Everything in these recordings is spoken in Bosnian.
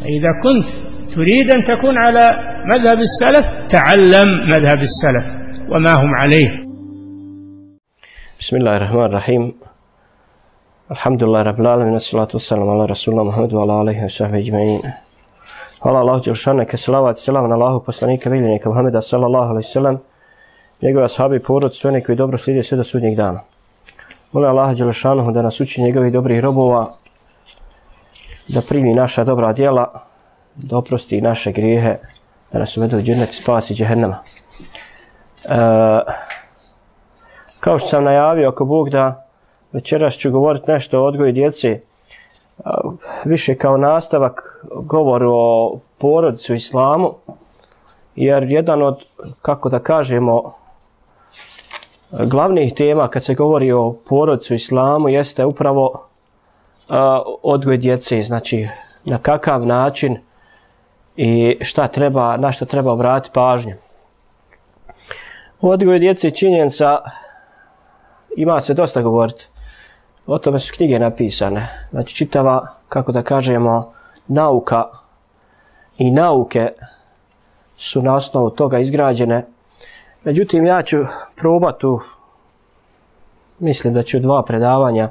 إذا كنت تريد أن تكون على مذهب السلف تعلم مذهب السلف وما هم عليه. بسم الله الرحمن الرحيم. الحمد لله رب العالمين والصلاة والسلام على رسول الله محمد وعلى آله وصحبه أجمعين. Hvala Allahu dželešanu, neka salavat i selam na Allahu poslanika miljenika Muhameda sallallahu alejhi ve sellem, njegove ashabe i porodicu, sve oni koji dobro slijede sve do sudnjeg dana. Molim Allaha dželešanu da nas uči njegovih dobrih robova, da primi naša dobra djela, da oprosti naše grijehe, da nas uvede u džennet i spasi džehennema. Kao što sam najavio, ako Bog da, večeras ću govoriti nešto o odgoju djece, više kao nastavak govoru o porodici u islamu, jer jedan od, kako da kažemo, glavnih tema kad se govori o porodici u islamu jeste upravo odgoj djece, znači na kakav način i na šta treba obratiti pažnju. Odgoj djece i činjenica ima se dosta govoriti. O tome su knjige napisane. Znači čitava, kako da kažemo, nauka i nauke su na osnovu toga izgrađene. Međutim, ja ću probati, mislim da ću 2 predavanja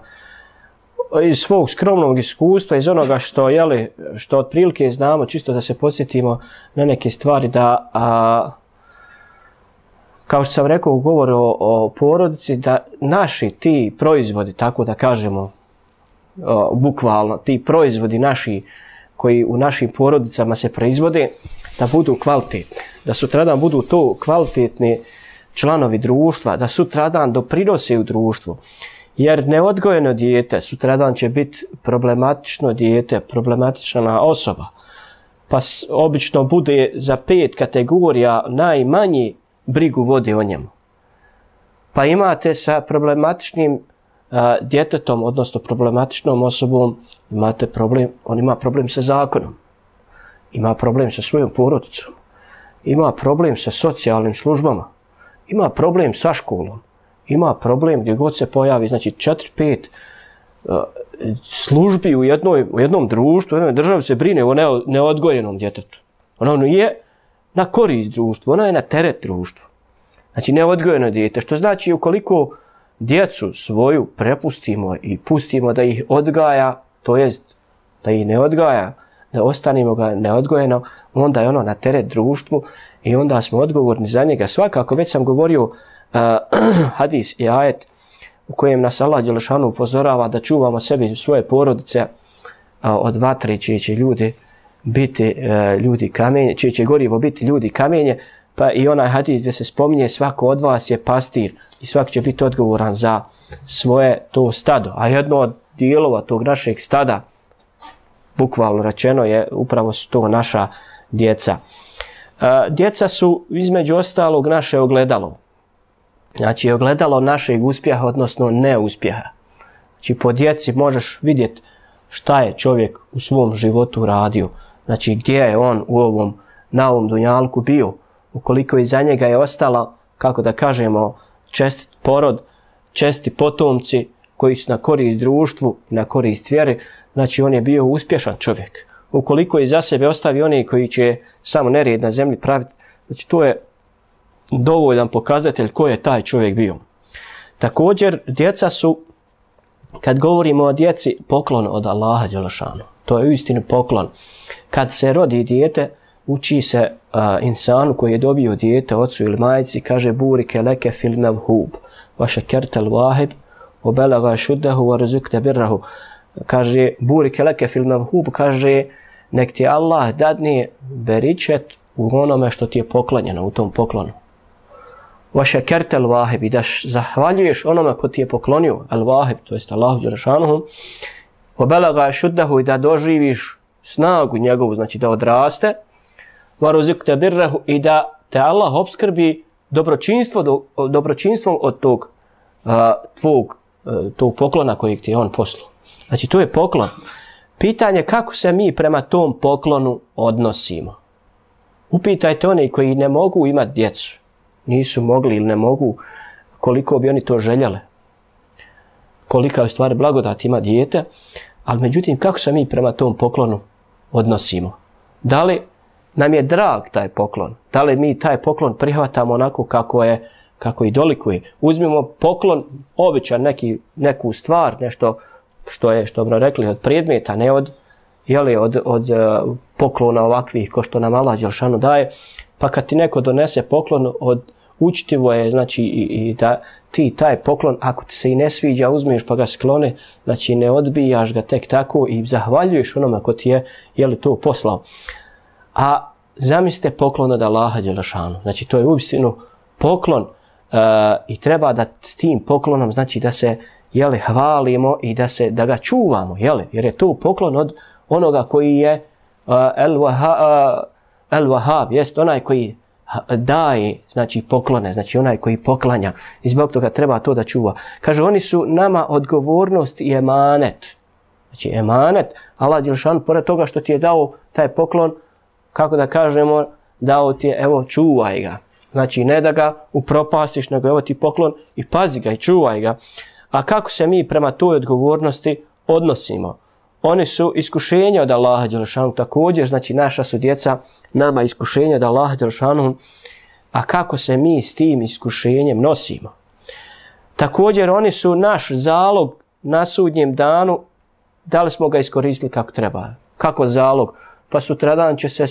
iz svog skromnog iskustva, iz onoga što otprilike znamo, čisto da se podsjetimo na neke stvari, da kao što sam rekao u govoru o porodici, da naši ti proizvodi, tako da kažemo bukvalno, ti proizvodi naši koji u našim porodicama se proizvode, da budu kvalitetni, da sutradan budu to kvalitetni članovi društva, da sutradan doprinose u društvu. Jer neodgojeno dijete sutradan će biti problematično dijete, problematična osoba. Pa obično bude za 5 kategorija najmanji brigu vode o njemu. Pa imate sa problematičnim djetetom, odnosno problematičnom osobom, imate problem, on ima problem sa zakonom, ima problem sa svojom porodicom, ima problem sa socijalnim službama, ima problem sa školom, ima problem gdje god se pojavi, znači 4-5 službi u jednom društvu, u jednoj državi se brine o neodgojenom djetetu. Ono je na korist društvu, ona je na teret društvu. Znači neodgojeno dijete, što znači ukoliko djecu svoju prepustimo i pustimo da ih odgaja, to jest da ih ne odgaja, da ostanimo ga neodgojeno, onda je ono na teret društvu i onda smo odgovorni za njega. Svakako, već sam govorio hadis i ajet u kojem nas Allah dželešanu upozorava da čuvamo sebi i svoje porodice od vatre, čije će ljudi biti ljudi kamenje, čije će gorivo biti ljudi kamenje, pa i onaj hadis gdje se spominje svako od vas je pastir i svak će biti odgovoran za svoje to stado. A jedno od dijelova tog našeg stada, bukvalno rečeno, je upravo su to naša djeca. Djeca su između ostalog naše ogledalo. Znači ogledalo našeg uspjeha, odnosno neuspjeha. Znači po djeci možeš vidjeti šta je čovjek u svom životu radio. Znači gdje je on na ovom dunjalku bio. Ukoliko iza njega je ostala, kako da kažemo, čestit porod, česti potomci koji su na korist društvu i na korist vjeri, znači on je bio uspješan čovjek. Ukoliko iza sebe ostavi oni koji će samo nered na zemlji praviti, znači to je dovoljan pokazatelj ko je taj čovjek bio. Također, djeca su, kad govorimo o djeci, poklon od Allaha dželešanu. To je uistinu poklon. Kad se rodi dijete, uči se insanu koji je dobio dijete, ocu ili majci, kaže burike leke fil mevhub, vaše kertel vahib, obelaga šuddehu, varzukte birrahu. Kaže burike leke fil mevhub, kaže nek ti Allah dadne beričet u onome što ti je poklonjeno, u tom poklonu. Vaše kertel vahib, i da zahvaljuješ onome ko ti je poklonio, al vahib, to jest Allahu dželešanu, obelaga šuddehu, i da doživiš snagu njegovu, znači da odraste, varzukte birrahu, i da te Allah opskrbi dobročinstvom od tog tog poklona kojeg ti je on poslao. Znači to je poklon. Pitanje kako se mi prema tom poklonu odnosimo. Upitajte one koji ne mogu imati djecu, nisu mogli ili ne mogu, koliko bi oni to željeli. Kolika je u stvari blagodat ima dijete, ali međutim kako se mi prema tom poklonu odnosimo. Da li nam je drag taj poklon? Da li mi taj poklon prihvatamo onako kako i dolikuje? Uzmimo poklon, običan neku stvar, nešto što bi rekli od predmeta, ne od poklona ovakvih ko što nam Allah dželešanu daje, pa kad ti neko donese poklon učitivo je, znači i da ti taj poklon, ako ti se i ne sviđa, uzmeš pa ga sklone, znači ne odbijaš ga tek tako i zahvaljuješ onome ko ti je to poslao. A zamislite poklon od Allaha dželešanu, znači to je uistinu poklon i treba da s tim poklonom, znači da se hvalimo i da ga čuvamo, jer je to poklon od onoga koji je El-Wahhab, jest onaj koji daje, znači poklone, znači onaj koji poklanja i zbog toga treba to da čuva. Kaže, oni su nama odgovornost i emanet. Znači emanet, Allah dželešanu pored toga što ti je dao taj poklon, kako da kažemo, dao ti je, evo, čuvaj ga. Znači ne da ga upropastiš, nego evo ti poklon i pazi ga i čuvaj ga. A kako se mi prema toj odgovornosti odnosimo? Oni su iskušenja od Allaha dželešanu također, znači naša su djeca nama iskušenja od Allaha dželešanu, a kako se mi s tim iskušenjem nosimo? Također oni su naš zalog na sudnjem danu, da li smo ga iskoristili kako treba? Kako zalog? Pa sutradan će se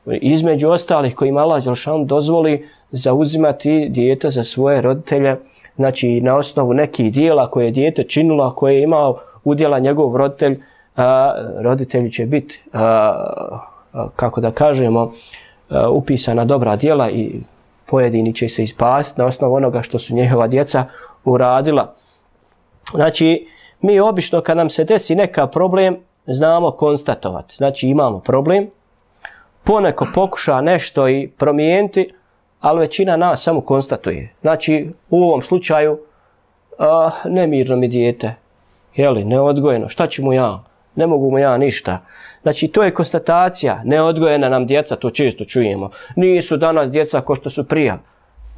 između ostalih kojima Allah dželešanu dozvoli zauzimati dijete za svoje roditelje, znači na osnovu nekih dijela koje je dijete činilo, koje je imao udjela njegov roditelj, roditelji će biti, kako da kažemo, upisana dobra djela i pojedini će se ispasti na osnovu onoga što su njihova djeca uradila. Znači, mi obično kad nam se desi neka problem, znamo konstatovati. Znači, imamo problem, poneko pokuša nešto i promijeniti, ali većina nas samo konstatuje. Znači, u ovom slučaju, nemirno mi dijete, neodgojeno, šta ću mu ja? Ne mogu mu ja ništa. Znači, to je konstatacija, neodgojena nam djeca, to često čujemo. Nisu danas djeca ko što su prija.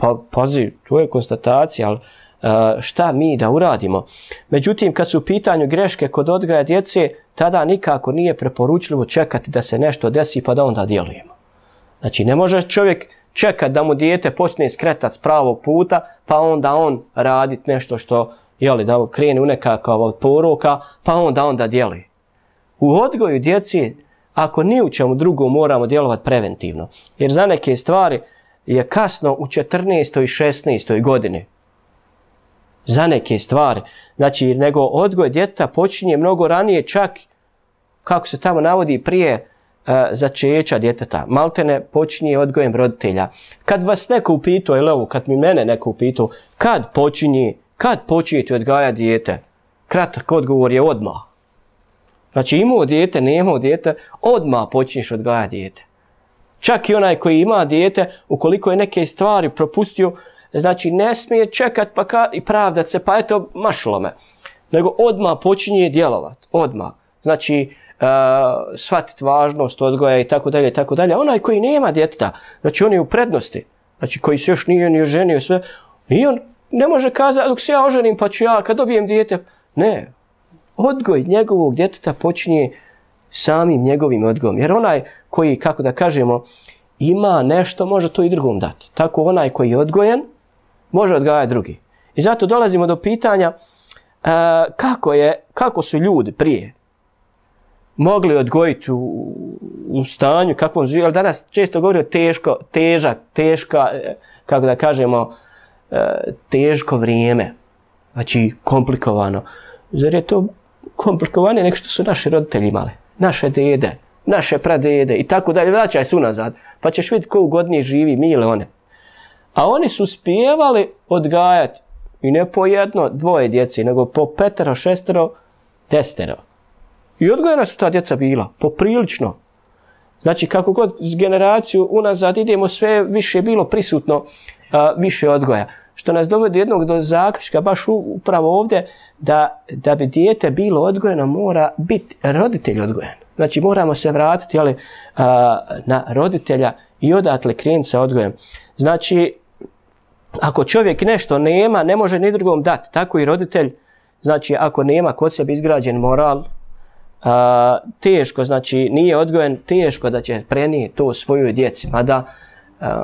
Pa, pazi, to je konstatacija, ali šta mi da uradimo? Međutim, kad su u pitanju greške kod odgoja djece, tada nikako nije preporučljivo čekati da se nešto desi pa da onda djelujemo. Znači, ne može čovjek čekati da mu dijete počne skretati s pravog puta, pa onda on raditi nešto što, da krene u nekakav poroka, pa onda djeluje. U odgoju djeci, ako ni u čemu drugom, moramo djelovati preventivno. Jer za neke stvari je kasno u 14. i 16. godini. Za neke stvari. Znači, nego odgoj djeteta počinje mnogo ranije, čak, kako se tamo navodi, prije začeća djeteta. Maltene počinje odgojem roditelja. Kad vas neko upitao, ili ovo, kad mi mene neko upitao, kad počinjete odgajati dijete? Kratak odgovor je odmah. Znači, imao dijete, nemao dijete, odmah počinješ odgajati dijete. Čak i onaj koji ima dijete, ukoliko je neke stvari propustio, znači ne smije čekati i pravdat se, pa eto, mašlo me. Nego odmah počinje djelovati, odmah. Znači, shvatiti važnost odgoja i tako dalje, i tako dalje. Onaj koji nema djeteta, znači on je u prednosti, znači koji se još nije ni oženio sve, i on ne može kazati, dok se ja oženim pa ću ja, kad dobijem dijete, ne. Odgoj njegovog djeteta počinje samim njegovim odgojem. Jer onaj koji, kako da kažemo, ima nešto, može to i drugom dati. Tako onaj koji je odgojen, može odgajati drugi. I zato dolazimo do pitanja kako su ljudi prije mogli odgojiti u stanju, kakvom živi, ali danas često govori o kako da kažemo, teško vrijeme. Znači, komplikovano. Zar je to komplikovanije nego što su naši roditelji imali? Naše dede, naše pradede i tako dalje. Vraćaj se unazad, pa ćeš vidjeti ko ugodnije živi, mi ili one. A oni su uspijevali odgajati i ne po jedno, dvoje djeci, nego po 5, 6, 10. I odgojena su ta djeca bila, poprilično. Znači, kako god generaciju unazad idemo, sve više bilo prisutno, više odgoja. Što nas dovodi jednog do zaključka, baš upravo ovdje, da bi dijete bilo odgojeno, mora biti roditelj odgojen. Znači, moramo se vratiti na roditelja i odatle krenuti sa odgojem. Znači, ako čovjek nešto nema, ne može ni drugom dati. Tako i roditelj, znači, ako nema kod sebe izgrađen moral, teško, znači nije odgojen, teško da će prenijeti to svojoj djeci. Mada,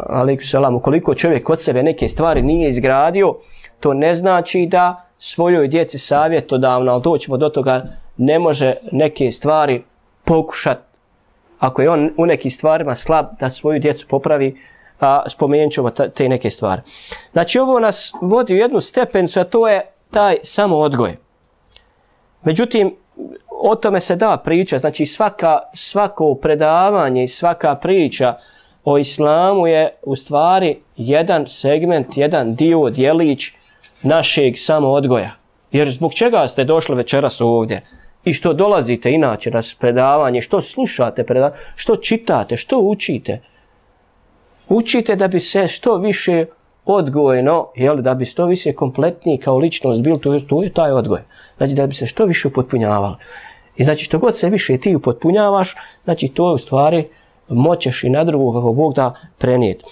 alejkum selam, ukoliko čovjek kod sebe neke stvari nije izgradio, to ne znači da svojoj djeci savjetodavno, ali doćemo do toga, ne može neke stvari pokušati, ako je on u nekim stvarima slab, da svoju djecu popravi, spomenut ćemo te neke stvari. Znači ovo nas vodi u jednu stepenicu, a to je taj samoodgoj. Međutim, o tome se da priča, znači svako predavanje i svaka priča o islamu je u stvari jedan segment, jedan dio, djelić našeg samoodgoja. Jer zbog čega ste došli večeras ovdje i što dolazite inače na predavanje, što slušate predavanje, što čitate, što učite? Učite da bi se što više odgojno, da bi što više kompletniji kao ličnost bil, to je taj odgoj. Znači da bi se što više upotpunjavali. I znači što god se više ti upotpunjavaš, znači to u stvari moćeš i na drugog kako Bog da prenijeti.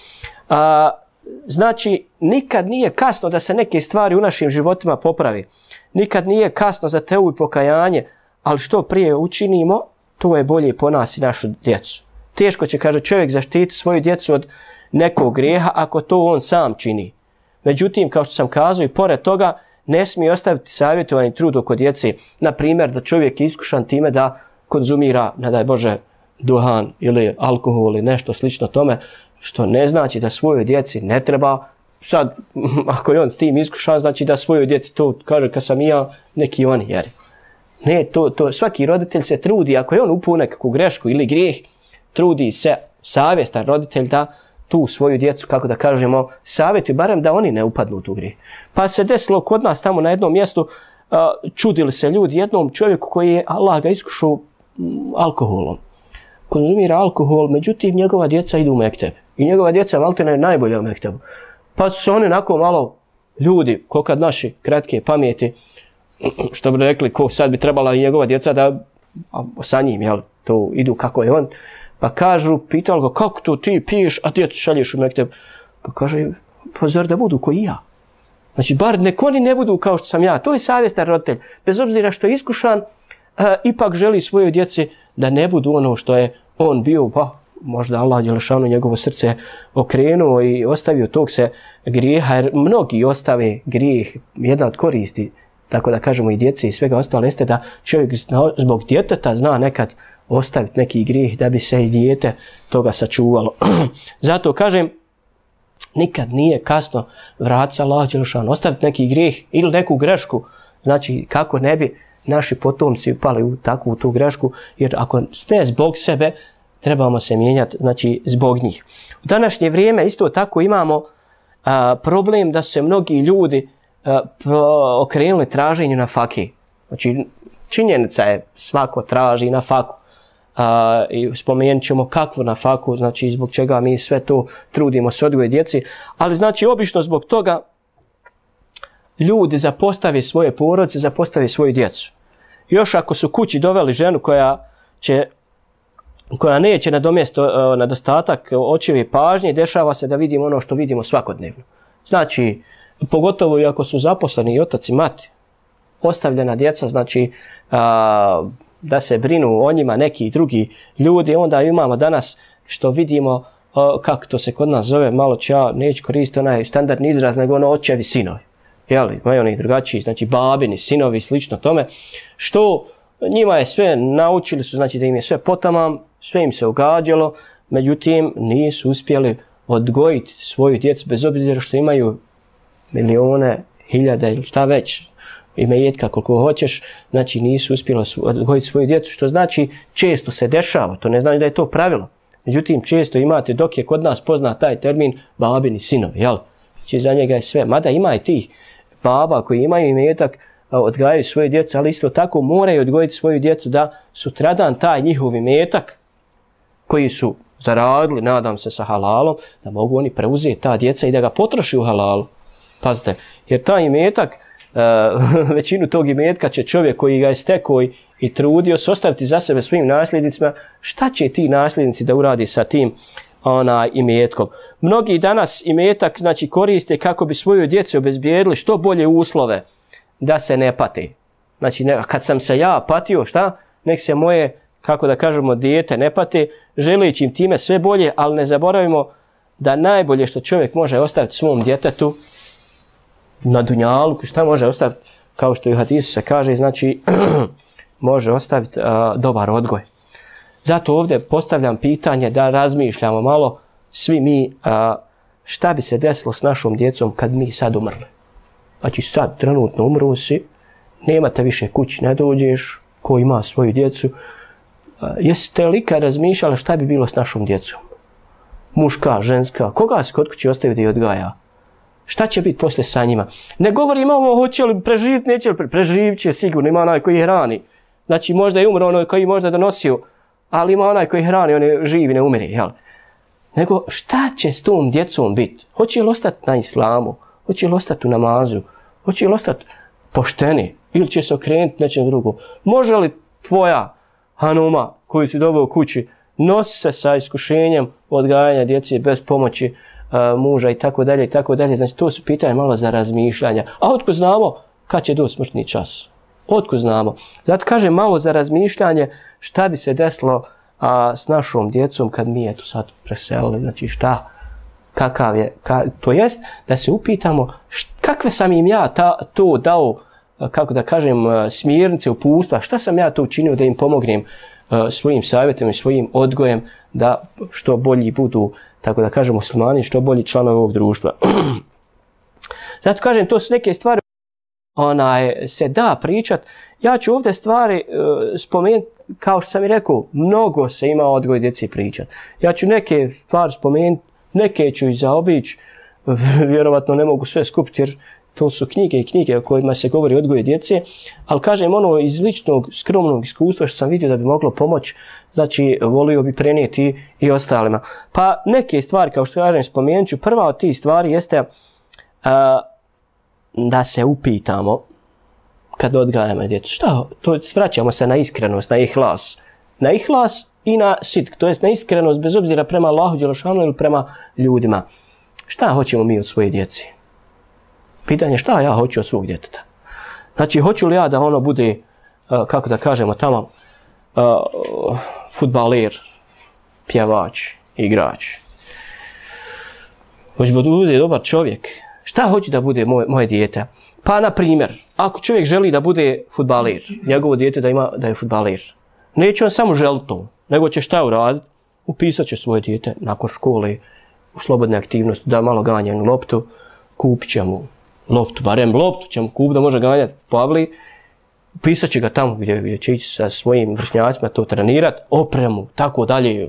Znači nikad nije kasno da se neke stvari u našim životima popravi. Nikad nije kasno za teubu i pokajanje, ali što prije učinimo, to je bolje po nas i našu djecu. Teško će, kaže čovjek, zaštiti svoju djecu od nekog grijeha ako to on sam čini. Međutim, kao što sam kazao, i pored toga ne smije ostaviti savjetovani trud oko djece. Na primjer, da čovjek je iskušan time da konzumira, ne daj Bože, duhan ili alkohol ili nešto slično tome, što ne znači da svojoj djeci ne treba, sad, ako je on s tim iskušan, znači da svojoj djeci to kaže kad sam ja, neki oni, jer ne, to svaki roditelj se trudi, ako je on upao nekakvu grešku ili grijeh, trudi se savjestan roditelj da tu svoju djecu, kako da kažemo, savjetuje, barem da oni ne upadnu u tu grijeh. Pa se desilo kod nas tamo na jednom mjestu, čudili se ljudi jednom čovjeku koji je, Allah ga iskušao alkoholom. Konzumira alkohol, međutim njegova djeca idu u mekteb. I njegova djeca maltene je najbolja u mektebu. Pa su oni onako malo ljudi, ko kad naši kratke pameti, što bi rekli, ko sad bi trebala i njegova djeca da sa njim, jel, to idu kako je on. Pa kažu, pitali ga, kako to ti piješ, a djecu šalješ u mekteb? Pa kaže, pa zar da budu ko i ja? Znači, bar nek oni ne budu kao što sam ja. To je savjestan roditelj. Bez obzira što je iskušan, ipak želi svojoj djeci da ne budu ono što je on bio, pa možda Allah djelešanu njegovo srce okrenuo i ostavio tog se grijeha, jer mnogi ostave grijeh, jedna od koristi, tako da kažemo i djeci i svega ostalo, jeste da čovjek zbog djeteta zna nekad ostaviti neki grijeh da bi se i dijete toga sačuvalo. Zato kažem, nikad nije kasno vratiti se Allah djelešanu, ostaviti neki grijeh ili neku grešku, znači kako ne bi naši potomci upali u takvu tu grešku, jer ako ne zbog sebe, trebamo se mijenjati, znači zbog njih. U današnje vrijeme isto tako imamo problem da su se mnogi ljudi okrenuli traženju na faki. Znači činjenica je, svako traži na faku. I spomenut ćemo kakvu na faku, znači zbog čega mi sve to trudimo se odgoje djeci, ali znači obično zbog toga ljudi zapostave svoje porodice, zapostave svoju djecu. Još ako su kući doveli ženu koja neće nadomjestiti nedostatak očeve pažnje, dešava se da vidimo ono što vidimo svakodnevno. Znači, pogotovo i ako su zaposleni i otac i mati, ostavljena djeca, znači da se brinu o njima neki drugi ljudi, onda imamo danas što vidimo, kako to se kod nas zove, malo ću ja neću koristiti onaj standardni izraz, nego ono očevi sinovi. Jeli, imaju oni drugačiji, znači babini, sinovi, slično tome, što njima je sve, naučili su, znači da im je sve potamam, sve im se ugađalo, međutim nisu uspjeli odgojiti svoju djecu, bez obzira što imaju milijone, hiljade ili šta već, imetka koliko hoćeš, znači nisu uspjeli odgojiti svoju djecu, što znači često se dešava, to ne znači da je to pravilo, međutim često imate, dok je kod nas poznat taj termin babini sinovi, jel? Znači za njega je sve, mada ima i tih baba koji imaju imetak, odgajaju svoje djece, ali isto tako moraju odgojiti svoju djecu da sutradan taj njihov imetak koji su zaradili, nadam se sa halalom, da mogu oni preuzeti ta djeca i da ga potroši u halalu. Pazite, jer taj imetak, većinu tog imetka će čovjek koji ga je stekao i trudio se ostaviti za sebe svojim nasljednicima. Šta će ti nasljednici da uradi sa tim imetkom? Mnogi danas imetak znači koriste kako bi svoju djecu obezbijedili što bolje uslove da se ne pate. Znači kad sam se ja patio, šta? nek se moje, kako da kažemo, dijete ne pate, želeći im time sve bolje, ali ne zaboravimo da najbolje što čovjek može ostaviti svom djetetu na dunjaluku, šta može ostaviti, kao što i u hadisu se kaže, znači može ostaviti dobar odgoj. Zato ovdje postavljam pitanje da razmišljamo malo svi mi šta bi se desilo s našom djecom kad mi sad umrli. Znači sad trenutno umru si, nemate više kući, ne dođeš, ko ima svoju djecu. Jeste li ikad razmišljali šta bi bilo s našom djecom? Muška, ženska, koga se kod kuće ostavi da je odgaja? Šta će biti poslije sa njima? Ne govorimo ovo hoće li preživjeti, neće li preživjeti će sigurno, ima onaj koji hrani. Znači možda je umro onaj koji možda donosio, ali ima onaj koji hrani, on je živi, ne umire, jel? Nego šta će s tom djecom biti? Hoće li ostati na islamu? Hoće li ostati u namazu? Hoće li ostati pošteni? Ili će se okrenuti nečem drugo? Može li tvoja hanuma koju si doveo u kući nosi se sa iskušenjem odgajanja djece bez pomoći muža i tako dalje i tako dalje? Znači to su pitanje malo za razmišljanja. A otkud znamo kad će doći smrtni čas? Otkud znamo? Zato kažem malo za razmišljanje šta bi se desilo s našom djecom kad mi eto sad preselili, znači šta, kakav je, to jest da se upitamo kakve sam im ja to dao, kako da kažem, smjernice, uputstva, šta sam ja to učinio da im pomognem svojim savjetom i svojim odgojem da što bolji budu, tako da kažem, muslimani, što bolji članovi ovog društva. Zato kažem, to su neke stvari se da pričat. Ja ću ovdje stvari spomenuti, kao što sam i rekao, mnogo se ima odgoj djeci pričat. Ja ću neke stvari spomenuti, neke ću i zaobići, vjerovatno ne mogu sve skupiti jer to su knjige i knjige o kojima se govori o odgoju djece, ali kažem ono iz ličnog, skromnog iskustva što sam vidio da bi moglo pomoći, znači volio bi prenijeti i ostalima. Pa neke stvari, kao što kažem, spomenut ću. Prva od tih stvari jeste da se upitamo kad odgajamo djecu. Šta? To vraćamo se na iskrenost, na ihlas. Na ihlas i na sidk, to jest na iskrenost bez obzira prema Allahu dželešanu ili prema ljudima. Šta hoćemo mi od svoje djece? Pitanje šta ja hoću od svog djeteta. Znači, hoću li ja da ono bude, kako da kažemo tamo, fudbaler, pjevač, igrač. Hoću da bude dobar čovjek. Šta hoću da bude moje dijete? Pa, na primjer, ako čovjek želi da bude fudbaler, njegovo dijete da je fudbaler, neće on samo želiti to, nego će šta uraditi? Upisat će svoje dijete nakon škole u slobodne aktivnosti, da malo ganja na loptu, kupit će mu loptu, barem loptu će mu kupiti da može ganjati po avli, upisat će ga tamo gdje će ići sa svojim vršnjacima to trenirati, opremu, tako dalje,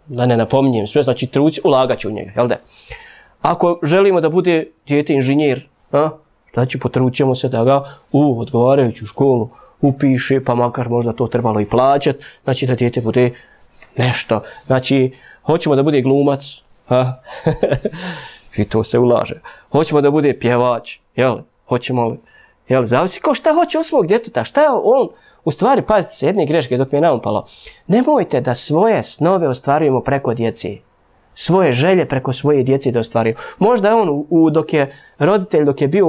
da ne napominjem sve, znači trući, ulagat će u njega, jel da? Ako želimo da bude dijete inženjer, znači potrućemo se da ga u odgovarajuću školu upiše, pa makar možda to trebalo i plaćati, znači da dijete bude nešto. Znači, hoćemo da bude glumac, i to se ulaže. Hoćemo da bude pjevač, jel? Hoćemo li, jel? Zavisi ko šta hoće od svog djeteta, šta je on, u stvari, pazite se, jedne greške dok mi je naumpalo, nemojte da svoje snove ostvarujemo preko djece. Svoje želje preko svoje djece da ostvarujemo. Možda je on, dok je roditelj, dok je bio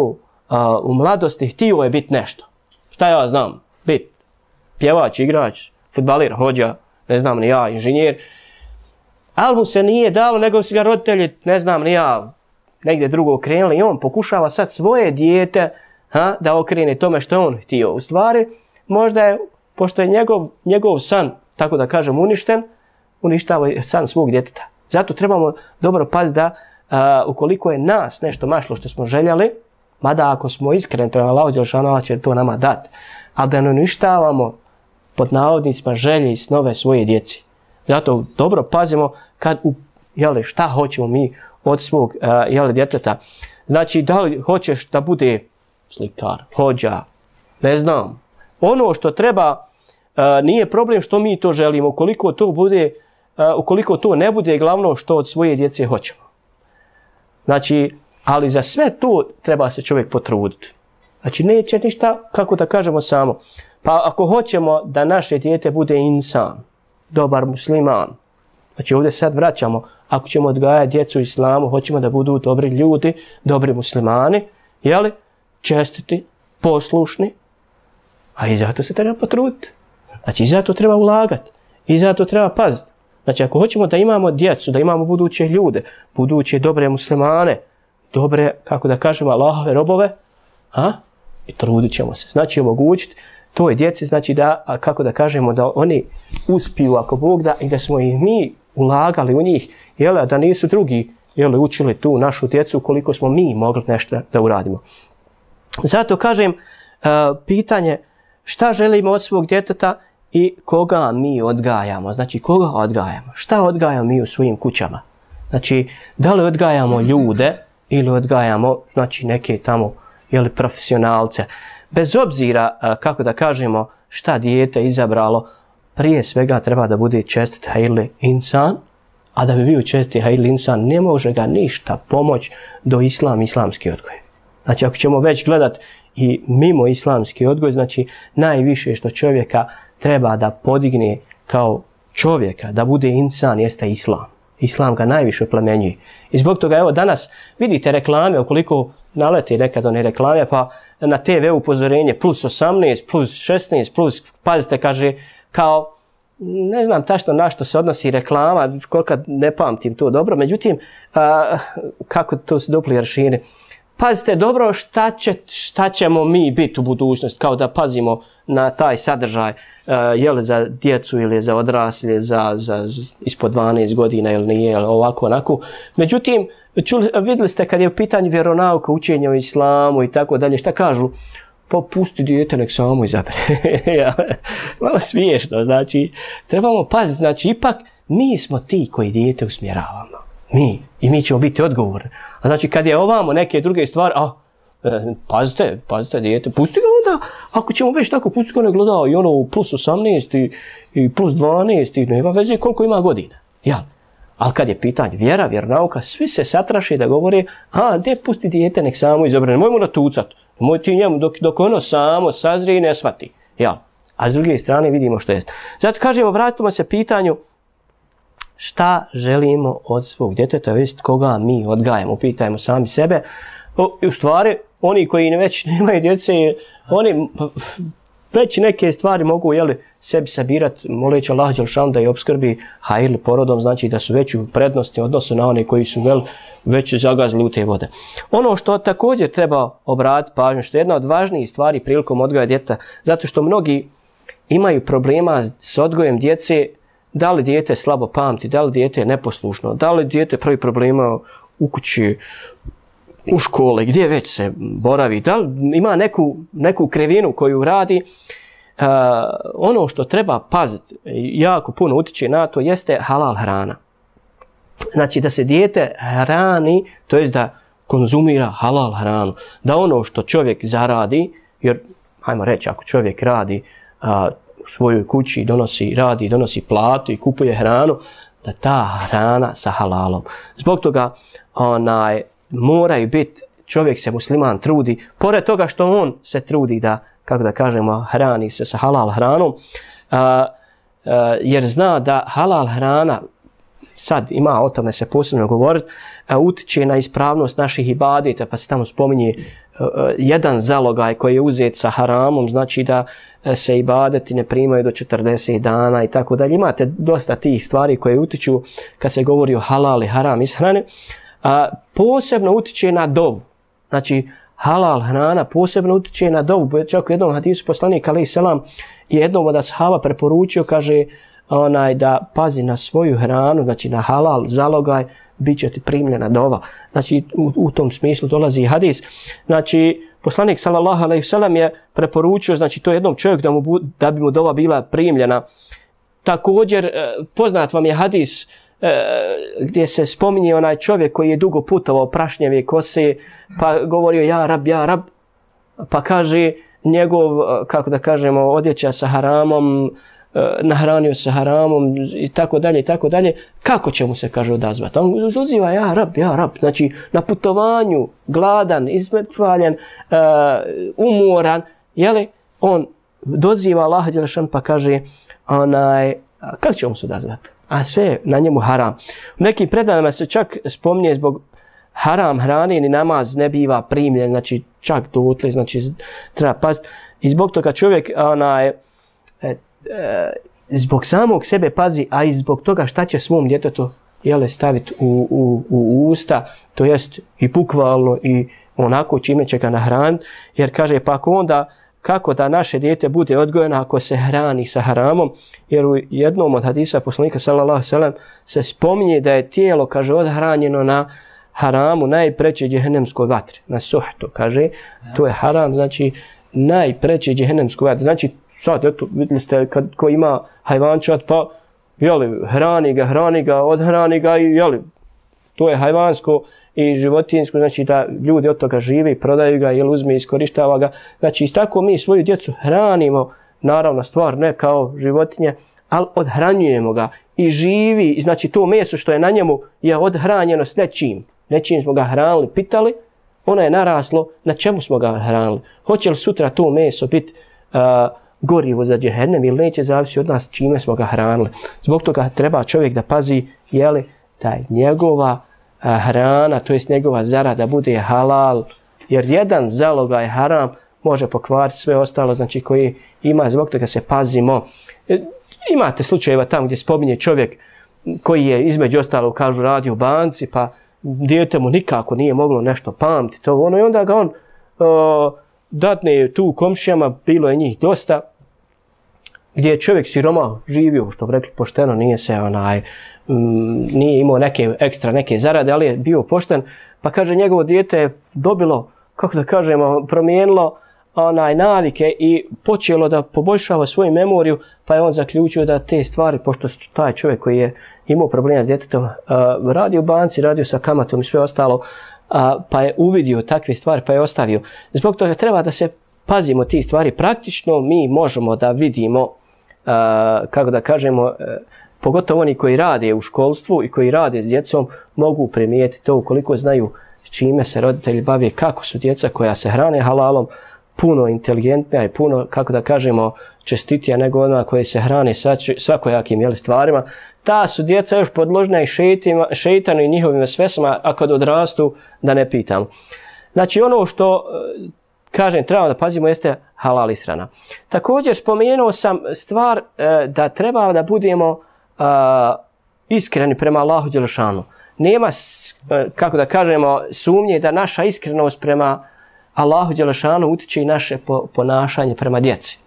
u mladosti, htio je biti nešto. Šta ja znam? Biti pjevač, igrač, fudbaler, hođa, ne znam ni ja, inženjer. Ali mu se nije dalo, nego su ga roditelji, ne znam ni ja, negdje drugo okrenuli i on pokušava sad svoje dijete da okrene tome što je on htio. U stvari, možda je, pošto je njegov san, tako da kažem, uništen, uništava san svog djeteta. Zato trebamo dobro paziti da ukoliko je nas nešto mašlo što smo željeli, mada ako smo iskreni prema Allahu dželešanu, Allah će to nama dati, ali da ne uništavamo pod navodnicima želje i snove svoje djeci. Zato dobro pazimo kad šta hoćemo mi od svog djeteta. Znači, da li hoćeš da bude slikar, hođa, ne znam. Ono što treba, nije problem što mi to želimo, ukoliko to ne bude glavno što od svoje djece hoćemo. Znači, ali za sve to treba se čovjek potruditi. Znači, neće ništa, kako da kažemo, samo. Pa ako hoćemo da naše dijete bude insan, dobar musliman, znači ovdje sad vraćamo, ako ćemo odgajati djecu u islamu, hoćemo da budu dobri ljudi, dobri muslimani, čestiti, poslušni, a i zato se treba potruditi. Znači, i zato treba ulagati. I zato treba paziti. Znači, ako hoćemo da imamo djecu, da imamo buduće ljude, buduće dobre muslimane, dobre, kako da kažemo, Allahove robove, i trudit ćemo se. Znači, omogućiti toj djeci, znači da, kako da kažemo, da oni uspiju, ako Bog da, i da smo i mi ulagali u njih, jel, da nisu drugi, jel, učili tu našu djecu koliko smo mi mogli nešto da uradimo. Zato kažem, pitanje šta želimo od svog djeteta i koga mi odgajamo. Znači, koga odgajamo? Šta odgajamo mi u svojim kućama? Znači, da li odgajamo ljude ili odgajamo, znači, neke tamo, jel, profesionalce. Bez obzira, kako da kažemo, šta dijete izabralo, prije svega treba da bude čestit hajli insan, a da bi bio čestit hajli insan, ne može ga ništa pomoći do islamski odgoj. Znači, ako ćemo već gledat i mimo islamski odgoj, znači, najviše što čovjeka treba da podigne kao čovjeka, da bude insan, jeste islam. Islam ga najviše oplemenjuje. I zbog toga, evo, danas vidite reklame, ukoliko nalete nekad one reklame, pa na TV upozorenje plus 18, plus 16, plus, pazite, kaže, kao, ne znam tačno na što se odnosi reklama, koliko ne pamtim to dobro, međutim, kako to se dupli aršine. Pazite dobro šta ćemo mi biti u budućnosti, kao da pazimo na taj sadržaj, je li za djecu ili za odraslje, za ispod 12 godina ili nije, ili ovako, onako. Međutim, vidjeli ste kad je u pitanju vjeronauka, učenja o islamu i tako dalje, šta kažu? Pa pusti dijete, nek samo izabere. Malo smiješno, znači, trebamo paziti, znači, ipak mi smo ti koji dijete usmjeravamo. Mi. I mi ćemo biti odgovorni. A znači, kad je ovamo neke druge stvari, pazite dijete, pusti ga onda, ako ćemo već tako, pusti ga ne gleda i ono plus 18 i plus 12 i nema veze koliko ima godina. Jel? Ali kad je pitanje vjera, vjeronauka, svi se satraše da govore, gdje pusti dijete, nek samo izabere, nemojmo natucat, nemoj ti njemu dok ono samo sazrije i ne shvati. Jel? A s druge strane vidimo što je. Zato kažemo, vratimo se pitanju šta želimo od svog djeteta, jest koga mi odgajamo, pitajmo sami sebe. U stvari, oni koji već nemaju djece, oni već neke stvari mogu, jeli, sebi sabirati, moleći Allah dželešanu da je obskrbi hajl porodom, znači da su već u prednosti odnosu na one koji su već zagazili u te vode. Ono što također treba obratiti pažnju, što je jedna od važnijih stvari prilikom odgoja djeteta, zato što mnogi imaju problema s odgojem djece, da li dijete slabo pamti, da li dijete je neposlušno, da li dijete pravi problema u kući, u škole, gdje već se boravi, da li ima neku krivinu koju radi. Ono što treba paziti, jako puno utiče na to, jeste halal hrana. Znači da se dijete hrani, to jest da konzumira halal hranu. Da ono što čovjek zaradi, jer, hajmo reći, ako čovjek radi u svojoj kući, donosi platu i kupuje hranu, da ta hrana sa halalom. Zbog toga moraju biti, čovjek se musliman trudi, pored toga što on se trudi da, kako da kažemo, hrani se sa halal hranom, jer zna da halal hrana, sad ima o tome se posebno govoriti, utiče na ispravnost naših ibadeta, pa se tamo spominje jedan zalogaj koji je uzet sa haramom, znači da se ibadeti ne primaju do 40 dana i tako dalje. Imate dosta tih stvari koje utiču kad se govori o halal i haram ishrane. Posebno utiče na dovu. Znači, halal hrana posebno utiče na dovu. Čak u jednom hadisu poslanik alejhi selam je jednom od ashaba preporučio, kaže, da pazi na svoju hranu, znači na halal zalogaj, bit će ti primljena dova. Znači, u tom smislu dolazi hadis. Znači, poslanik sallallahu alejhi ve sellem je preporučio, znači to jednom čovjeku da bi mu dova bila primljena. Također, poznat vam je hadis gdje se spominje onaj čovjek koji je dugo putovao prašnjeve kose, pa govorio ja rab, pa kaže njegov, kako da kažemo, odjeća sa haramom, nahranio sa haramom i tako dalje, kako će mu se, kaže, odazvati? On uziva ja rab, znači na putovanju, gladan, izmrtvaljen, umoran, jeli, on doziva Allaha dželešanu pa kaže, kako će mu se odazvati? A sve na njemu haram. U nekim predajama se čak spominje zbog haram hrane ni namaz ne biva primljen, znači čak dotle, znači treba paziti. I zbog toga čovjek zbog samog sebe pazi, a i zbog toga šta će svom djetetu staviti u usta, to jest i bukvalno i onako čime će ga nahraniti, jer kaže pa ako onda kako da naše dijete bude odgojeno ako se hrani sa haramom, jer u jednom od hadisa poslanika sallallahu alejhi ve sellem se spominje da je tijelo, kaže, odhranjeno na haramu najpreće džehennemskoj vatri, na suhtu, kaže, to je haram, znači najpreće džehennemskoj vatri. Znači, sad, eto, vidjeli ste, ko ima hajvančat, pa, hrani ga, odhrani ga i, to je hajvansko i životinjsko, znači da ljudi od toga žive i prodaju ga ili uzme i iskorištava ga. Znači, tako mi svoju djecu hranimo, naravno, stvar ne kao životinje, ali odhranjujemo ga i živi, znači to meso što je na njemu je odhranjeno s nečim. Nečim smo ga hranili, pitali, ono je naraslo, na čemu smo ga hranili. Hoće li sutra to meso biti gorivo za džehennem ili neće, zavisi od nas čime smo ga hranili. Zbog toga treba čovjek da pazi, da je njegova hrana, to jest njegova zarada bude halal, jer jedan zalogaj haram može pokvariti sve ostalo, znači koji ima, zbog toga se pazimo. Imate slučajeva tamo gdje spominje čovjek koji je između ostalo, kažu, radi u banci, pa dijete mu nikako nije moglo nešto pamtiti, i onda ga on datne tu komšijama, bilo je njih dosta, gdje je čovjek siromah živio, što bi rekli pošteno, nije imao neke zarade, ali je bio pošten, pa kaže njegovo dijete je dobilo, kako da kažemo, promijenilo navike i počelo da poboljšava svoju memoriju, pa je on zaključio da te stvari, pošto taj čovjek koji je imao problema s djetetom, radio u banci, radio sa kamatom i sve ostalo, pa je uvidio takve stvari, pa je ostavio. Zbog toga treba da se pazimo tih stvari. Praktično mi možemo da vidimo, kako da kažemo, pogotovo oni koji rade u školstvu i koji rade s djecom, mogu primijetiti to ukoliko znaju čime se roditelji bave, kako su djeca koja se hrane halalom, puno inteligentnija i puno, kako da kažemo, čestitija nego ona koja se hrane svakojakim stvarima. Ta su djeca još podložna i šeitanu i njihovim vesvesama, a kad odrastu, da ne pitam. Znači, ono što, kažem, treba da pazimo jeste halal ishrana. Također, spomenuo sam stvar da treba da budemo iskreni prema Allahu dželešanu. Nema, kako da kažemo, sumnje da naša iskrenost prema Allahu dželešanu utiče i naše ponašanje prema djeci.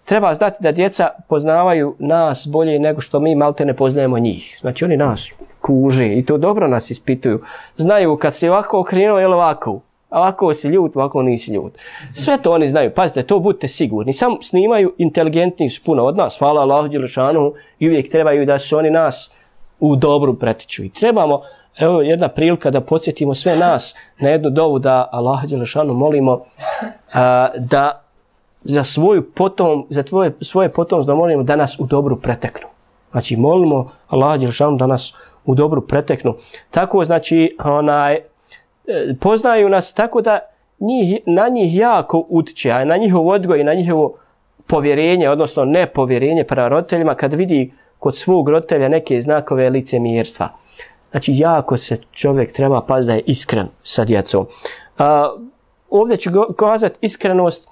Treba znati da djeca poznavaju nas bolje nego što mi malte ne poznajemo njih. Znači oni nas kuže i to dobro nas ispituju. Znaju kad si ovako okrenuo ili ovako. Ovako si ljut, ovako nisi ljut. Sve to oni znaju. Pazite, to budite sigurni. Samo snimaju, inteligentni su puno od nas. Hvala Allahu dželešanu i uvijek trebaju da su oni nas u dobru pretiču. I trebamo, evo jedna prilika da podsjetimo sve nas na jednu dovu da Allaha dželešanu molimo da za svoje potomstvo da molimo da nas u dobru preteknu. Znači molimo Allaha dželešanu da nas u dobru preteknu. Tako znači poznaju nas tako da na njih jako utiče, a na njihov odgoj i na njihovo povjerenje, odnosno nepovjerenje prema roditeljima kad vidi kod svog roditelja neke znakove licemjerstva. Znači jako se čovjek treba paziti da je iskren sa djecom. Ovdje ću kazati iskrenost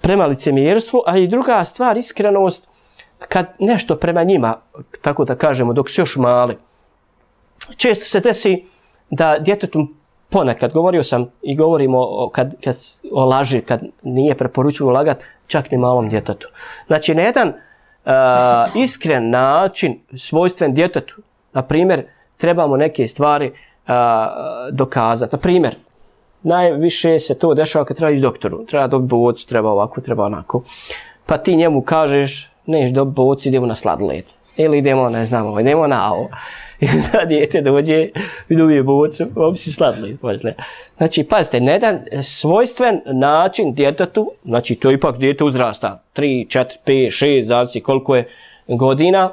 prema licemjerstvu, a i druga stvar, iskrenost kad nešto prema njima, tako da kažemo, dok su još mali. Često se desi da djetetu ponekad, govorio sam i govorimo o laži, kad nije preporučilo lagati, čak ni malom djetetu. Znači na jedan iskren način, svojstven djetetu, na primjer, trebamo neke stvari dokazati. Na primjer, najviše se to dešava kad treba ići doktoru. Treba dobiti bocu, treba ovako, treba onako. Pa ti njemu kažeš, neš dobiti bocu, idemo na sladoled. Ili idemo, ne znam, idemo na ovo. I da dijete dođe i dobije bocu, ovo si sladoled poslije. Znači, pazite, na jedan svojstven način djetetu, znači to ipak dijete uzrasta, 3, 4, 5, 6, zavisi koliko je godina,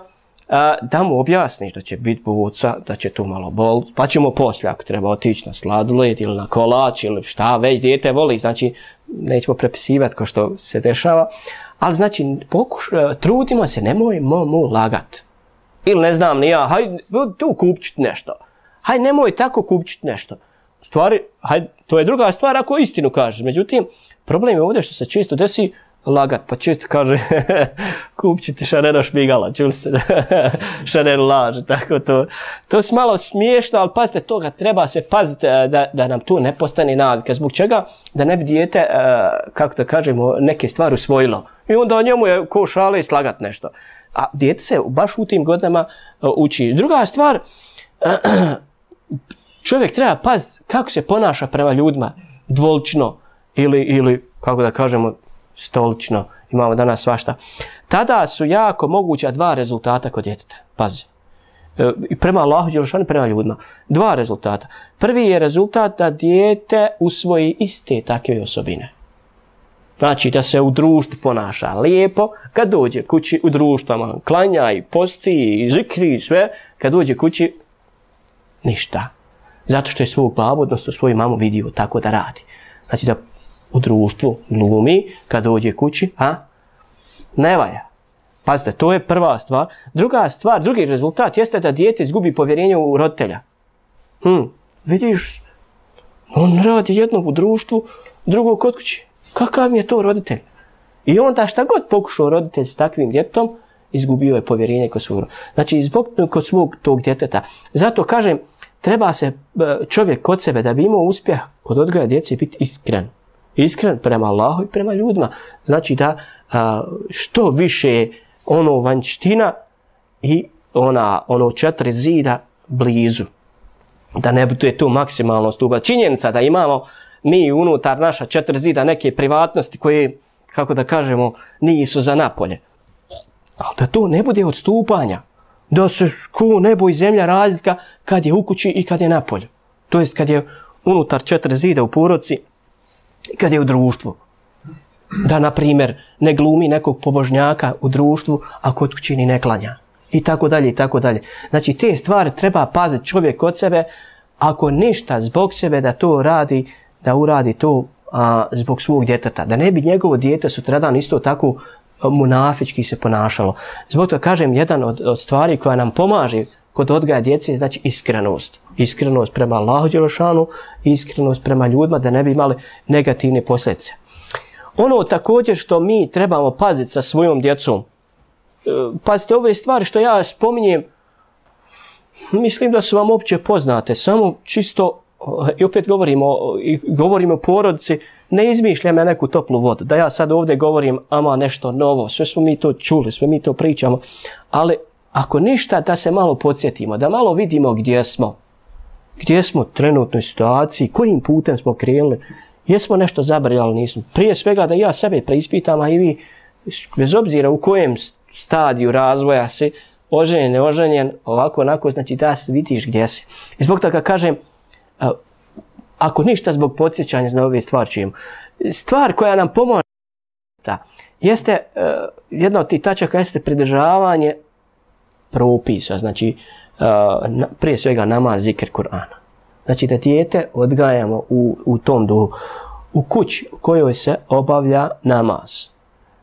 da mu objasniš da će biti boca, da će to malo bol, pa ćemo poslije ako treba otići na sladoled ili na kolač ili šta već dijete voli, znači nećemo prepisivati kao što se dešava, ali znači trudimo se, nemojmo mu lagat. Ili ne znam ni ja, hajde tu kupčit nešto, hajde nemoj tako kupčit nešto. U stvari, hajde, to je druga stvar ako istinu kažeš, međutim, problem je ovdje što se često desi, lagat, pa čisto kaže kupit ćete Šanera šmigala, čuli ste Šaner laže, tako to. To je malo smiješno, ali pazite, toga treba se paziti da nam to ne postane navika. Zbog čega? Da ne bi dijete, kako da kažemo, neke stvari usvojilo. I onda njemu je ko šale i slagat nešto. A dijete se baš u tim godinama uči. Druga stvar, čovjek treba paziti kako se ponaša prema ljudima, dvolično ili kako da kažemo, stolično, imamo danas svašta. Tada su jako moguća dva rezultata kod djeteta. Pazi. I prema Allahu dželešanu, prema ljudima. Dva rezultata. Prvi je rezultat da dijete usvoji iste takve osobine. Znači da se u društvu ponaša lijepo, kad dođe kući u društvama, klanja i posti i zikri i sve, kad dođe kući, ništa. Zato što je svog babu, odnosno svoju mamu vidio tako da radi. Znači da u društvu glumi, kad dođe kući, ne valja. Pazite, to je prva stvar. Druga stvar, drugi rezultat jeste da dijete izgubi povjerenje u roditelja. Vidiš, on radi jednog u društvu, drugog kod kući. Kakav mi je to roditelj? I onda šta god pokušao roditelj s takvim djetetom, izgubio je povjerenje kod svog. Znači, kod svog tog djeteta. Zato kažem, treba se čovjek kod sebe, da bi imao uspjeh kod odgoja djece, biti iskren. Iskren prema Allahu i prema ljudima. Znači da što više ono vanjština i ono 4 zida blizu. Da ne bude to maksimalno stupa. Činjenica da imamo mi unutar naša 4 zida neke privatnosti koje, kako da kažemo, nisu za napolje. Ali da to ne bude odstupanja. Da se ko nebo i zemlja razlika kad je u kući i kad je napolju. To jest kad je unutar 4 zida u porodici i kad je u društvu. Da, na primjer, ne glumi nekog pobožnjaka u društvu, a kod kući ni ne klanja. I tako dalje, i tako dalje. Znači, te stvari treba paziti čovjek od sebe, ako ništa zbog sebe da to radi, da uradi to zbog svog djeteta. Da ne bi njegovo dijete sutradan isto tako munafički se ponašalo. Zbog toga kažem, jedan od stvari koja nam pomaže kod odgaja djece je znači iskrenost. Iskrenost prema Allahu dželešanu, iskrenost prema ljudima, da ne bi imali negativne posljedice. Ono također što mi trebamo paziti sa svojom djecom, pazite, ove stvari što ja spominjem, mislim da su vam opće poznate, samo čisto, i opet govorimo o porodici, ne izmišljam ja neku toplu vodu, da ja sad ovdje govorim ama nešto novo, sve smo mi to čuli, sve mi to pričamo, ali ako ništa da se malo podsjetimo, da malo vidimo gdje smo u trenutnoj situaciji, kojim putem smo krenuli, jesmo nešto zabrali, nismo. Prije svega da ja sebe preispitam, a i vi, bez obzira u kojem stadiju razvoja si, oženjen, neoženjen, ovako, onako, znači da vidiš gdje si. I zbog toga kažem, ako ništa zbog podsjećanja na ove stvari čujemo, stvar koja nam pomože jeste, jedna od tih tačaka jeste pridržavanje propisa, znači prije svega namaz, zikr, Kur'ana. Znači da dijete odgajamo u tom duhu. U kući u kojoj se obavlja namaz.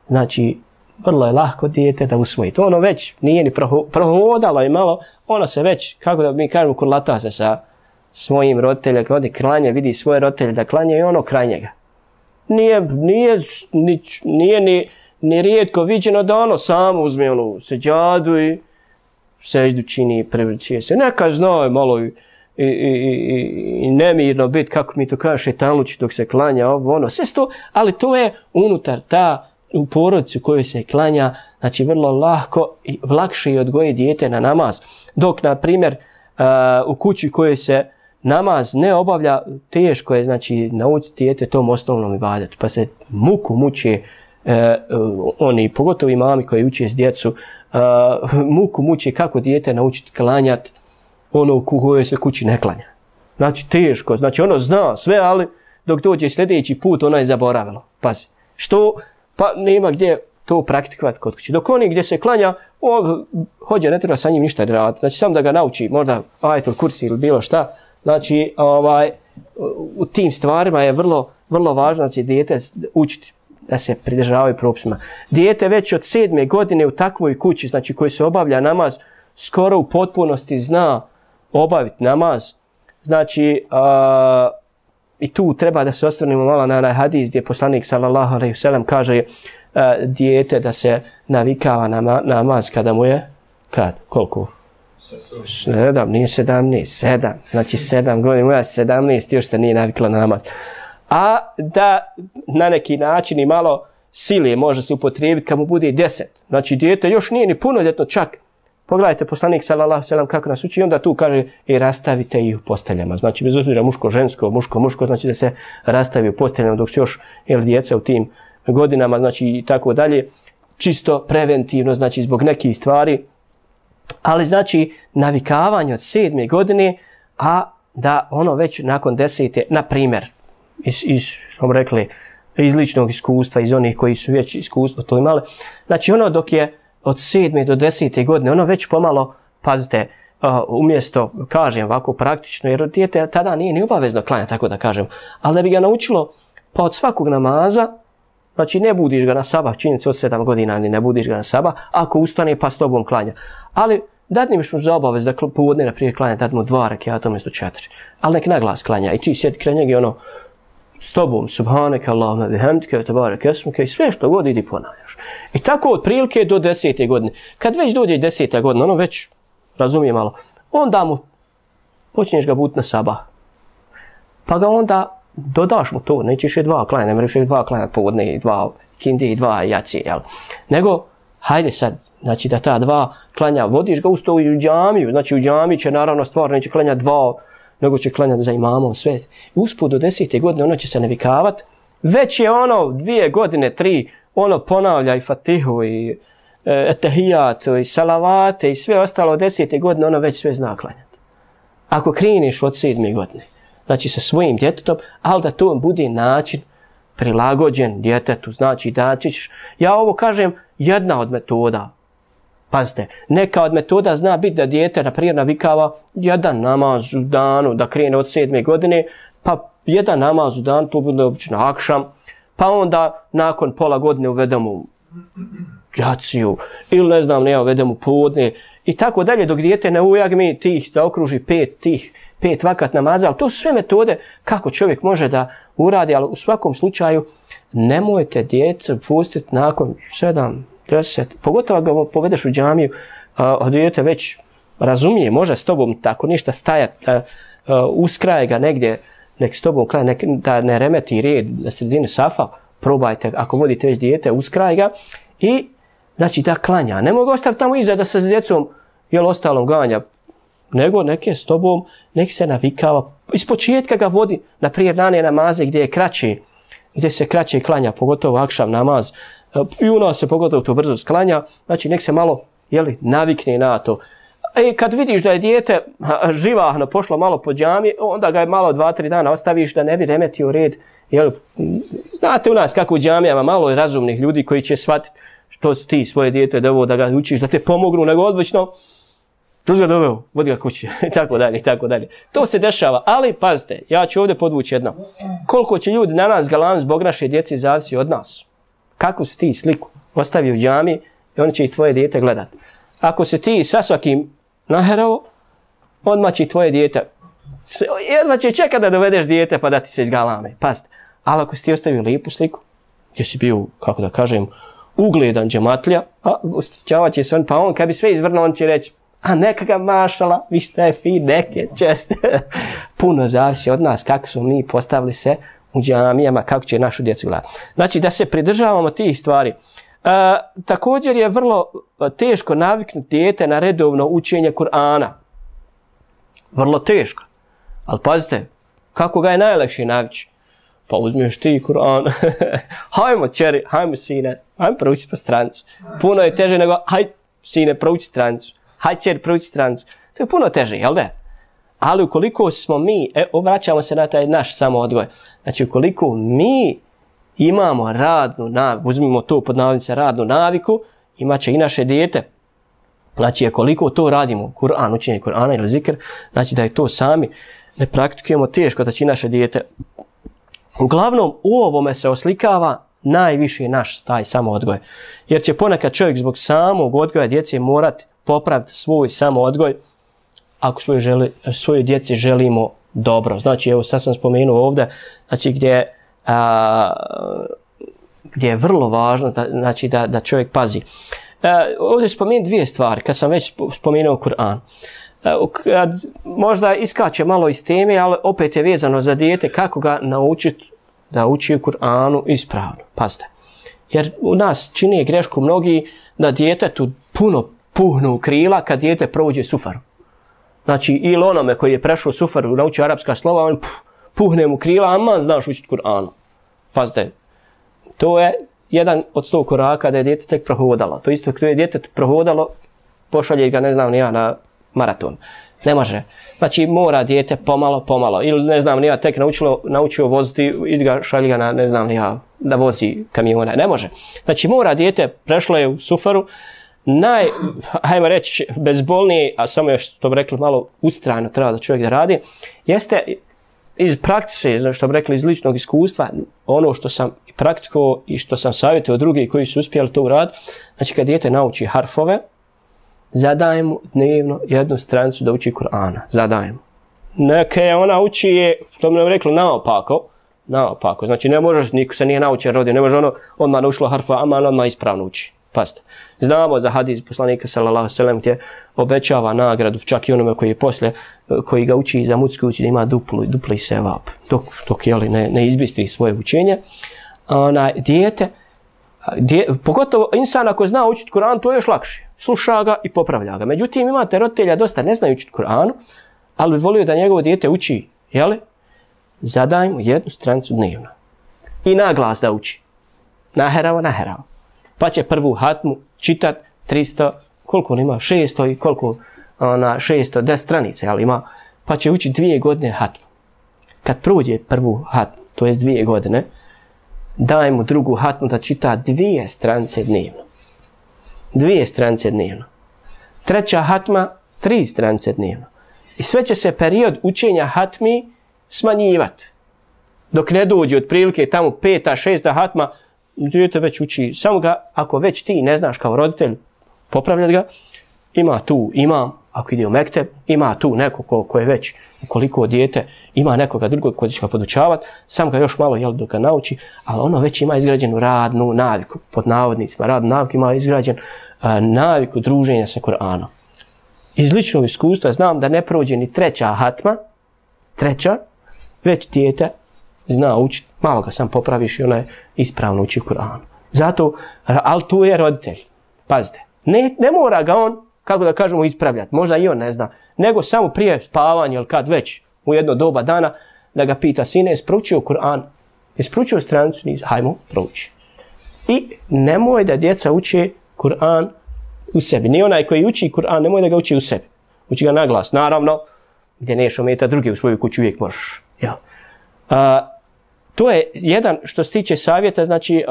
Znači, vrlo je lahko dijete da usvoji. To ono već nije ni prohodalo i malo, ono se već, kako da mi kažemo, kurlata se sa svojim roditeljem, kad odi klanje, vidi svoje roditelje da klanje i ono kraj njega. Nije ni rijetko viđeno da ono samo uzme onu seđadu i seždu čini i prevrćuje se. Neka zna malo i nemirno biti, kako mi to kaže, šetanluči dok se klanja, ono, sve to, ali to je unutar u porodici u kojoj se klanja, znači vrlo lahko i lakše je odgojiti dijete na namaz. Dok, na primjer, u kući u kojoj se namaz ne obavlja, teško je, znači, naučiti dijete tom osnovnom ibadetu, pa se muče oni, pogotovo i mami koji uče s djecu, muče kako dijete naučiti klanjati, ono u kojoj se kući ne klanja. Znači teško, znači ono zna sve, ali dok dođe sljedeći put ono je zaboravilo. Pazi, što? Pa nema gdje to praktikovati kod kući. Dok oni gdje se klanja, hođe ne treba sa njim ništa raditi. Znači samo da ga nauči, možda ajetul kursi ili bilo šta. Znači u tim stvarima je vrlo važno, znači dijete učiti da se pridržavaju propisima. Dijete već od 7. godine u takvoj kući, znači koji se obavlja namaz, skoro u potpunosti zna obaviti namaz. Znači, i tu treba da se osvrnemo malo na onaj hadis gdje poslanik sallallahu alejhi ve sellem kaže dijete da se navikava na namaz kada mu je koliko? 7, nije 17, 7. Znači 7 godina, moja 17 još se nije navikla na namaz. A da na neki način i malo sile može se upotrijebiti kad mu bude 10. Znači dijete još nije ni punoljetno čak. Pogledajte poslanik sallallahu alejhi ve sellem kako nas uči, onda tu kaže i rastavite ih u posteljama. Znači bez obzira muško-žensko, muško-muško, znači da se rastavi u posteljama dok su još djeca u tim godinama, znači i tako dalje. Čisto preventivno, znači zbog nekih stvari. Ali znači navikavanje od 7. godine, a da ono već nakon 10. na primjer, smo rekli, iz ličnog iskustva, iz onih koji su već iskustvo to imali, znači ono dok je od 7. do 10. godine, ono već pomalo, pazite, umjesto, kažem ovako praktično, jer dijete tada nije ni obavezno klanja, tako da kažem, ali da bi ga naučilo, pa od svakog namaza, znači ne budiš ga na sabah, činjenica od 7 godina, ni ne budiš ga na sabah, ako ustane pa s tobom klanja. Ali dadniš mu za obavez da povodne na prije klanja, dad mu 2 rekata umjesto 4. Ali nek naglas klanja i ti sjedi kraj njega i ono, s tobom, subhaneke Allahumma bihamdike, tebareke esmuke i sve što god idi ponavljaš. I tako od prilike do 10. godine. Kad već dođe 10. godina, ono već razumije malo, onda mu počneš ga buditi na sabah. Pa ga onda dodaš mu to, nećeš je 2 klanja, ne mreš je 2 klanja povodne i 2 kindi i 2 jacije, jel? Nego, hajde sad, znači da ta 2 klanja, vodiš ga usto u džamiju, znači u džamiji će naravno stvar, neće klanja 2, nego će klanjati za imamom sve. Usput do 10. godine ono će se navikavati. Već je ono 2 godine, 3, ono ponavlja i fatihu i etahijatu i salavate i sve ostalo od 10. godine ono već sve zna klanjati. Ako kriniš od 7. godine, znači sa svojim djetetom, ali da to bude način prilagođen djetetu, znači da ćeš, ja ovo kažem jedna od metoda. Pazite, neka od metoda zna biti da dijete naprijed navikava jedan namaz u danu, da krene od 7. godine, pa jedan namaz u dan, to bude obično akšam, pa onda nakon pola godine uvedemo jaciju, ili ne znam, ne uvedemo podne, i tako dalje, dok dijete ne ujagmi tih, zaokruži 5 vakat namaza, ali to su sve metode kako čovjek može da uradi, ali u svakom slučaju nemojte djecu pustiti nakon 7, 10, pogotovo ga povedeš u džamiju, a dijete već razumije, može s tobom tako ništa stajati, uskraje ga negdje, nek s tobom klanja, da ne remeti red na sredini safa, probajte, ako vodite već dijete, uskraje ga i znači da klanja. Ne mogu ostaviti tamo iza da se s djecom, jel ostalom ganja, nego nek je s tobom, nek se navikava, iz početka ga vodi na prijednane namaze gdje se kraće klanja, pogotovo akšam namaz, i u nas se pogotovo to brzo sklanja, znači nek se malo navikne na to. Kad vidiš da je dijete živahno pošlo malo po džami, onda ga je malo 2-3 dana ostaviš da ne bi remetio red. Znate u nas kako u džamijama malo je razumnih ljudi koji će shvatiti što si ti svoje dijete doveo da ga učiš, da te pomognu, nego odlično to si ga doveo, vodi ga kući, i tako dalje, i tako dalje. To se dešava, ali pazite, ja ću ovdje podvući jedno. Koliko će ljudi na nas galam zbog naše djece zavisi od nas. Kako si ti sliku ostavio u džami i oni će i tvoje dijete gledati. Ako se ti sa svakim naherao, odmah će i tvoje dijete, jedva će čekati da dovedeš dijete pa da ti se izgalame. Pazite, ali ako si ti ostavio lijepu sliku, gdje si bio, kako da kažem, ugledan džematlja, a ustričavat će se on, pa on kad bi sve izvrnuo, on će reći, a neka ga mašala, vi šta je fin, neke čest. Puno zavisi od nas kako smo mi postavili se u džamijama, kako će našu djecu gledati. Znači da se pridržavamo tih stvari. Također je vrlo teško naviknuti dijete na redovno učenje Kur'ana. Vrlo teško. Ali pazite, kako ga je najlakše navići? Pa uzmiješ ti Kur'an. Hajmo čeri, hajmo sine, hajmo prouči po strancu. Puno je teže nego, haj sine, prouči strancu. Haj čeri, prouči strancu. To je puno teže, jel da? Ali ukoliko smo mi, vraćamo se na taj naš samoodgoj, znači ukoliko mi imamo radnu naviku, uzmimo to pod navodnice radnu naviku, imat će i naše dijete. Znači, koliko to radimo, Kur'an, učenje Kur'ana ili zikr, znači da je to sami ne praktikujemo, teško da će i naše dijete. Uglavnom, u ovome se oslikava najviše naš taj samoodgoj. Jer će ponekad čovjek zbog samog odgoja djece morati popraviti svoj samoodgoj, ako svoje djeci želimo dobro. Znači, evo sad sam spomenuo ovdje, znači gdje je vrlo važno znači da čovjek pazi. Ovdje spomenuo dvije stvari, kad sam već spomenuo Kur'an. Kad možda iskače malo iz teme, ali opet je vezano za dijete, kako ga naučiti da uči u Kur'anu ispravno. Pazite. Jer u nas čini grešku mnogi da djetetu puno puhnu krila kad dijete prođe sufaru. Znači, ili onome koji je prešao sufaru, naučio arapska slova, on puhne mu krila, aman znaš učiti Kur'anu. Pazite, to je jedan od 100 koraka da je dijete tek prohodalo. To isto kada je dijete prohodalo, pošalje ga, ne znam ni ja, na maraton. Ne može. Znači, mora dijete pomalo. Ili, ne znam ni ja, tek naučio voziti i ga šalje ga na, ne znam ni ja, da vozi kamione. Ne može. Znači, mora dijete, prešlo je u sufaru, hajmo reći, bezbolnije, a samo još, što bi rekli, malo ustrajno treba da čovjek da radi, jeste iz praktike, što bi rekli, iz ličnog iskustva, ono što sam praktikovao i što sam savjetio drugi koji su uspjeli to uraditi, znači kad dijete nauči harfove, zadajem mu dnevno jednu stranicu da uči Kur'ana. Zadajem. Neke ona uči je, što bi nam rekli, naopako. Znači ne možeš, niko se nije naučio rodio, ne može ono odmah naučilo harfa, aman odmah ispravno uči. Pazite. Znamo za hadis poslanika sallallahu alejhi ve sellem gdje obećava nagradu čak i onome koji je poslije, koji ga uči za mutsku uči da ima dupli sevap. Dok je li ne izbistri svoje učenje. Dijete, pogotovo insan ako zna učiti Kur'an, to je još lakše. Sluša ga i popravlja ga. Međutim, imate roditelja dosta ne znaju učiti Kur'anu, ali bi volio da njegovo dijete uči, jeli? Zadaj mu jednu stranicu dnevno. I na glas da uči. Naherao. Pa će prvu hatmu čitat 300, koliko on ima, 600 i koliko 610 stranica, ali ima, pa će učiti 2 godine hatmu. Kad prođe prvu hatmu, to je 2 godine, daj mu drugu hatmu da čita 2 stranice dnevno. 2 stranice dnevno. Treća hatma, 3 stranice dnevno. I sve će se period učenja hatmi smanjivati. Dok ne dođe otprilike tamo 5. 6. hatma, dijete već uči. Samo ga, ako već ti ne znaš kao roditelj popravljati ga, ima tu imam, ako ide u mekteb, ima tu neko ko je već, ukoliko dijete ima nekoga drugog koji će ga podučavati, sam ga još malo dok ga nauči, ali ono već ima izgrađenu radnu naviku, pod navodnicima, radnu naviku ima izgrađen naviku druženja sa Kur'anom. Iz ličnog iskustva znam da ne prođe ni 3. hatma, već dijete zna učiti, malo ga sam popraviš i ona je ispravno uči Kur'an. Zato, ali tu je roditelj. Pazite, ne mora ga on, kako da kažemo, ispravljati. Možda i on ne zna. Nego samo prije spavanja ili kad već u jedno doba dana da ga pita, sine, jesi proučio Kur'an? Jesi proučio stranicu? Hajmo, prouči. I nemoj da djeca uče Kur'an u sebi. Ni onaj koji uči Kur'an, nemoj da ga uči u sebi. Uči ga na glas. Naravno, gdje neš ometa druge u svoju kuću, uvijek možeš. Ja. To je jedan što se tiče savjeta, znači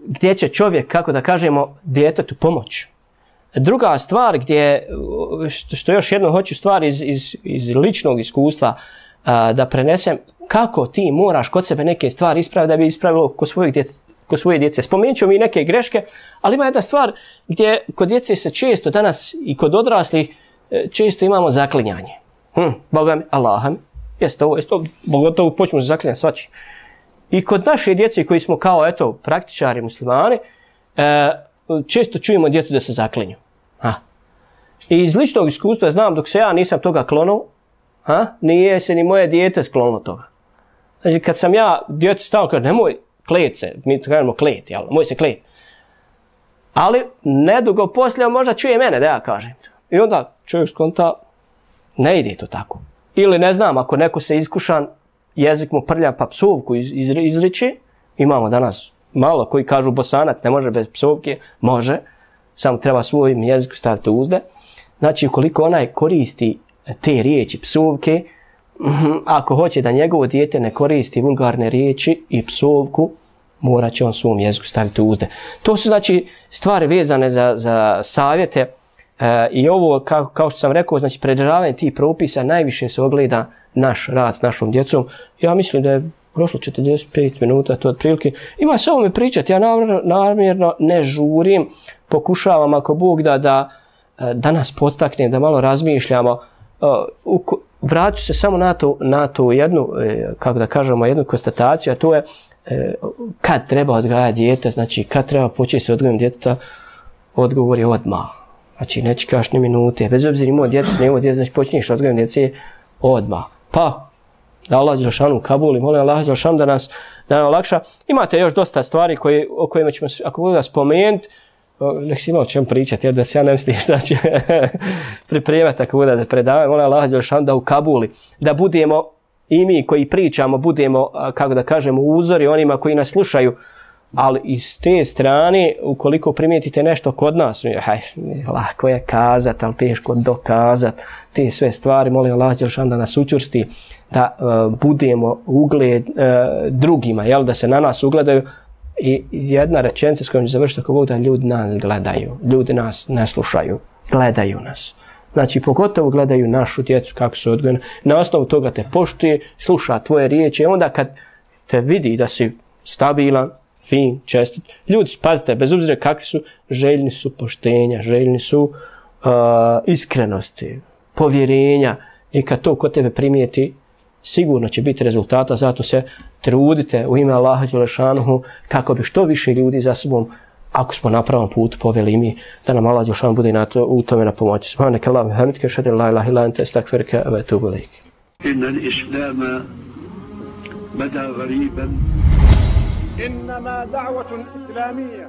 gdje će čovjek, kako da kažemo, djetetu pomoći. Druga stvar gdje, što još jedno hoću stvar iz ličnog iskustva da prenesem, kako ti moraš kod sebe neke stvari ispraviti da bi ispravilo kod svoje djece. Spomenut ću mi neke greške, ali ima jedna stvar gdje kod djece se često danas i kod odraslih često imamo zaklinjanje. Boga mi, Allaha mi, jeste ovo, pogotovo počnemo se zaklinjati svači. I kod naše djece koji smo kao, praktičari muslimani, često čujemo djetu da se zaklinju. I iz ličnog iskustva znam, dok se ja nisam toga klonuo, nije se ni moje dijete sklonilo toga. Znači, kad sam ja djetu stavio, kao nemoj klet se, mi to kažemo klet, jel, moj se klet. Ali, nedugo poslije možda čuje mene da ja kažem. I onda čovjek skonta, ne ide to tako. Ili ne znam, ako neko se iskušan, jezik mu prlja pa psovku izriči, imamo danas malo koji kažu Bosanac, ne može bez psovke, može, samo treba svojim jeziku staviti uzde. Znači, ukoliko onaj koristi te riječi psovke, ako hoće da njegovo dijete ne koristi vulgarne riječi i psovku, morat će on svom jeziku staviti uzde. To su znači stvari vezane za savjete i ovo, kao što sam rekao, znači pridržavanje tih propisa najviše se ogleda naš rad s našom djecom. Ja mislim da je prošlo 45 minuta, to otprilike. Ima samo mi pričati, ja namjerno ne žurim, pokušavam ako Bog da da nas podstakne, da malo razmišljamo. Vraću se samo na tu jednu, kako da kažemo, jednu konstataciju, a to je kad treba odgajati dijete, znači kad treba početi se odgojem djeteta, odgovor je odmah. Znači ne čekaš ni minute, bez obzira imao djecu, ne imao djecu, znači počinješ odgojem djece odmah. Pa, da Allah Đelešanu u Kabuli, molim Allah Đelešanu da nas olakša. Imate još dosta stvari o kojima ćemo, ako budu da spomenuti, nek si imao o čemu pričati, jer da se ja ne mislim šta ću pripremati ako budu da predavaju. Molim Allah Đelešanu da u Kabuli, da budemo i mi koji pričamo, budemo, kako da kažemo, uzori onima koji nas slušaju, ali iz te strane, ukoliko primijetite nešto kod nas, lako je kazati, ali teško dokazati, te sve stvari, molim Allah Đelešanu da nas učvrsti, da budemo ugled drugima, jel, da se na nas ugledaju. I jedna rečenica s kojom ću završiti ako Bog, da ljudi nas gledaju, ljudi nas ne slušaju, gledaju nas. Znači, pogotovo gledaju našu djecu kako su odgojeni. Na osnovu toga te poštuje, sluša tvoje riječi. Onda kad te vidi da si stabilan, fin, čestit, ljudi, pazite, bez obzira kakvi su, željni su poštenja, željni su iskrenosti, povjerenja. I kad to kod tebe primijeti, sigurno će biti rezultata. Zato se trudite u ime Allaha Đelešanuhu kako bi što više ljudi za sobom, ako smo na pravom putu, poveli mi, da nam Allah Đelešanu bude u tome na pomoći. Subhanaka Allahumma wa bihamdika, ashhadu an la ilaha illa anta, astaghfiruka wa atubu ilaik. Inna al-islama bada ghariban. إنما دعوة إسلامية